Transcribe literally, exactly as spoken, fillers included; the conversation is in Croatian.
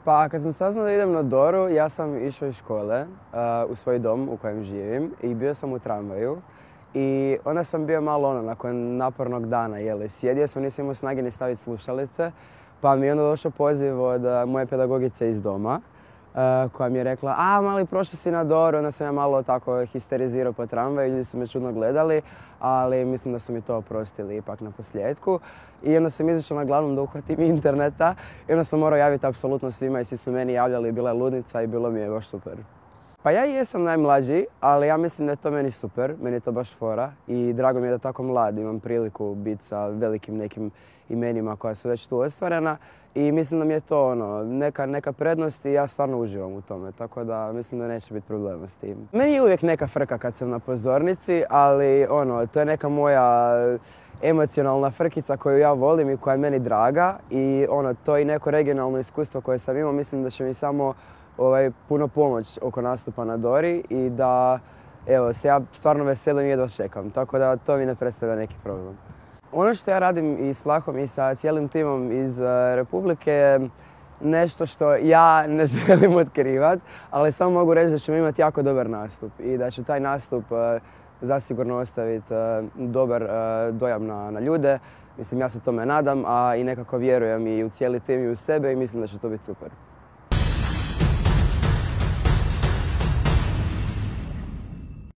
Pa kad sam saznao da idem na Doru, ja sam išao iz škole uh, u svoj dom u kojem živim i bio sam u tramvaju. I onda sam bio malo ono, nakon napornog dana, jeli, sjedio sam, nisam imao snage ni staviti slušalice, pa mi je onda došao poziv od uh, moje pedagogice iz doma, uh, koja mi je rekla, a mali, prošli si na Doru, onda sam ja malo tako histerizirao po tramvaju, ljudi su me čudno gledali, ali mislim da su mi to oprostili ipak na posljedku. I onda sam izašao na glavnom da uhvatim interneta i onda sam morao javiti apsolutno svima i svi su meni javljali, bila je ludnica i bilo mi je baš super. Pa ja i jesam najmlađi, ali ja mislim da je to meni super, meni je to baš fora i drago mi je da tako mlad imam priliku biti sa velikim nekim imenima koja su već tu ostvarena i mislim da mi je to ono, neka, neka prednost i ja stvarno uživam u tome, tako da mislim da neće biti problema s tim. Meni je uvijek neka frka kad sam na pozornici, ali ono, to je neka moja emocionalna frkica koju ja volim i koja je meni draga i ono, to je i neko regionalno iskustvo koje sam imao, mislim da će mi samo ovaj, puno pomoć oko nastupa na Dori i da evo, se ja stvarno veselim i jedva čekam, tako da to mi ne predstavlja neki problem. Ono što ja radim i s Flahom i sa cijelim timom iz uh, Republike je nešto što ja ne želim otkrivat, ali samo mogu reći da ćemo imati jako dobar nastup i da će taj nastup uh, zasigurno ostaviti uh, dobar uh, dojam na, na ljude. Mislim, ja se tome nadam, a i nekako vjerujem i u cijeli tim i u sebe i mislim da će to biti super.